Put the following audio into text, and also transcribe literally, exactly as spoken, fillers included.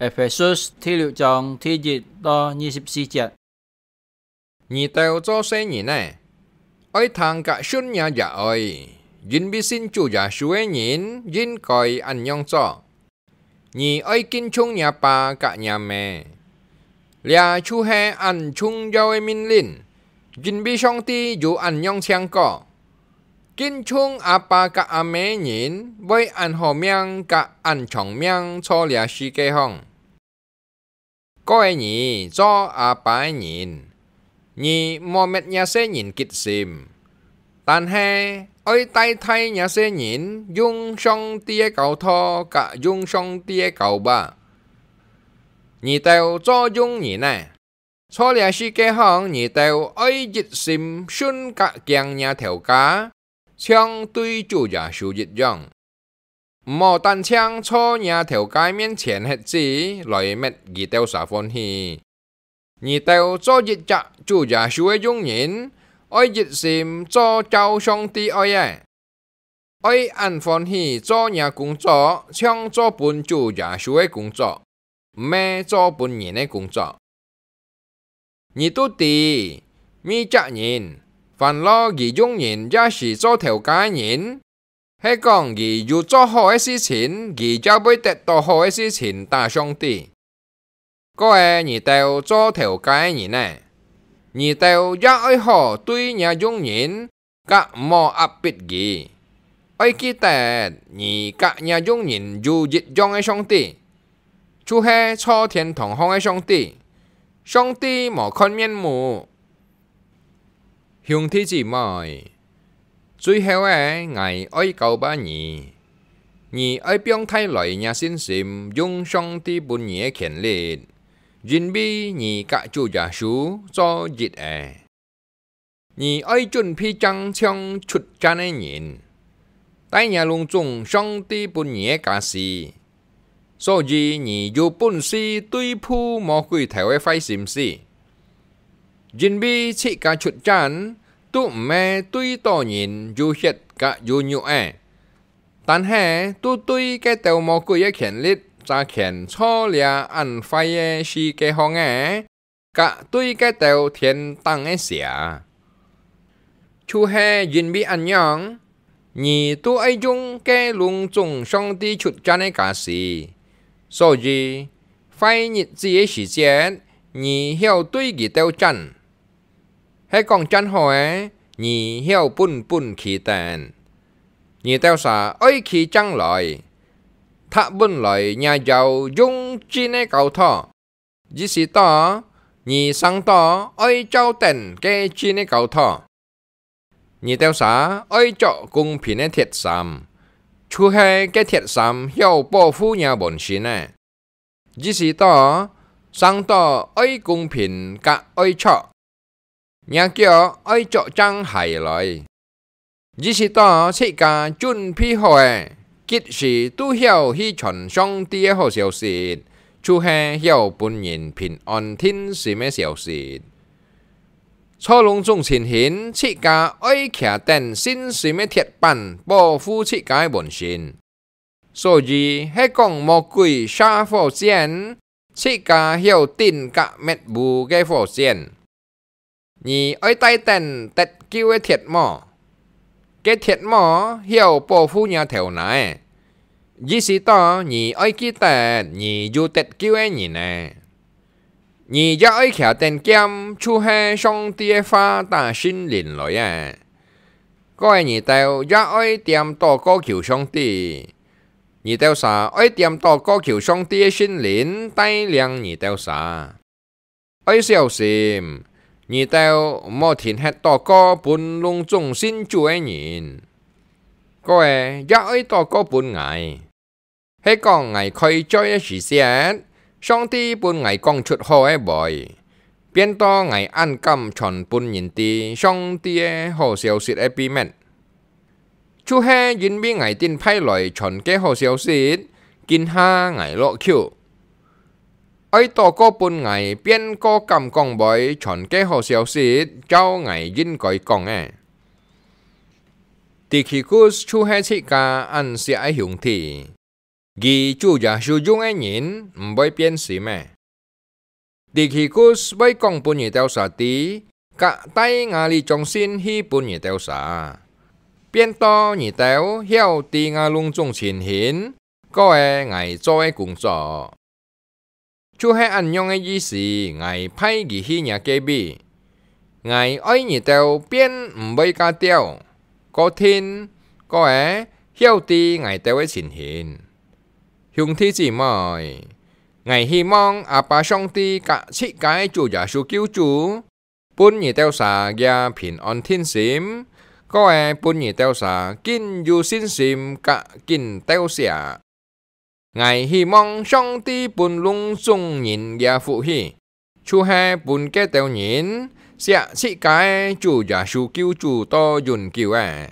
Ephesus第六章第一到二十四節。你兜做細人仔，愛聽格順若爺哀，因為信主耶穌个人應該恁樣做。你愛敬重若爸格若姆，這就係恁重要个命令，因為上帝有恁樣請過：「敬重阿爸格阿姆个人，會恁好命格恁長命坐這世界項。」 各位，你做阿爸个人，你莫搣若細人吉心，但係愛帶大若細人用上帝个教導格用上帝个教法。你兜做用人仔，坐這世界項，你兜愛一心順格敬若頭家，像對主耶穌一樣。 毋好單淨坐若頭家面前歇子來搣佢兜儕歡喜。你兜做一隻主耶穌个用人，愛一心做照上帝愛个，愛恁歡喜做若工作，像做分主耶穌个工作，毋係做分人个工作。你都知，每隻人，還係佢用人也係做頭家个人， 係講佢有做好个事情，佢就會得到好个事情打上帝。各位，你兜做頭家个人呢，你兜也愛好對若用人，甲毋好壓迫佢。愛記得，你甲若用人有一樣个上帝，就係坐天堂項个上帝。上帝無看面目。 兄弟姊妹，最後仔，𠊎愛交辦你，你愛放大來若信心，用上帝分你个權力，因為你甲主耶穌做一个。你愛準備正像出戰个人，帶若攏總上帝分你个家私。 所以你有本事對付魔鬼頭个壞心思，因為自家出戰，都毋係對著人有血甲有肉仔，但係都對該兜魔鬼个權力揸權坐這恁壞个世界項仔， 甲對該兜天頂个邪。就係因為恁樣，你都愛用該攏總上帝出戰个家私。所以，壞日子个時節，你曉對佢兜戰。係講戰好个，你曉本本企等。你兜儕愛企正來，踏穩來若腰用真个交託， 意思到，你生到愛照等該真个交託。你兜儕愛著公平个鐵衫，就係該鐵衫曉保護若本身个。意思到，生到愛公平甲愛著。 若腳愛著正鞋來。意思到自家準備好个，及時都曉去傳上帝个好消息，就係曉分人平安定心个消息。坐攏總情形，自家愛徛等信心个鐵板，保護自家个本身。 所以係講魔鬼射火箭，自家曉頂甲滅烏个火箭。你愛戴等得救个鐵帽，該鐵帽曉保護若頭那仔，意思到你愛記得你有得救个人仔。 你也愛擎等劍，就係上帝个話打聖靈來啊。各位，你兜也愛恬禱告求上帝，你兜儕愛恬禱告求上帝个聖靈帶領你兜儕。愛小心，你兜毋好停歇禱告分攏總信主个人。各位，也愛禱告分𠊎。 係講𠊎開嘴个時節，上帝分𠊎講出好个話，變到𠊎恁敢傳分人知上帝个好消息个秘密。就係因為𠊎頂擺來傳个好消息，今下𠊎落口。愛禱告分𠊎變過敢講話傳个好消息，照𠊎應該講个。Tychicus就係自家恁惜个兄弟。佢主耶穌用个人毋會變心个。Tikikus會講分你兜儕知，甲帶𠊎這種信去分你兜儕，變到你兜曉知𠊎攏總情形，過仔𠊎做个工作。就係恁樣个意思，𠊎派佢去若隔壁。𠊎愛你兜變毋會較刁，過定，過仔曉知𠊎兜个情形。兄弟姊妹，𠊎希望阿爸上帝甲自家个主耶穌救主，分你兜儕也平安定心，過仔分你兜儕緊有信心甲緊鬥惜。 𠊎希望上帝分攏總人个福氣，就係分該兜人惜自家个主耶穌救主到永久个。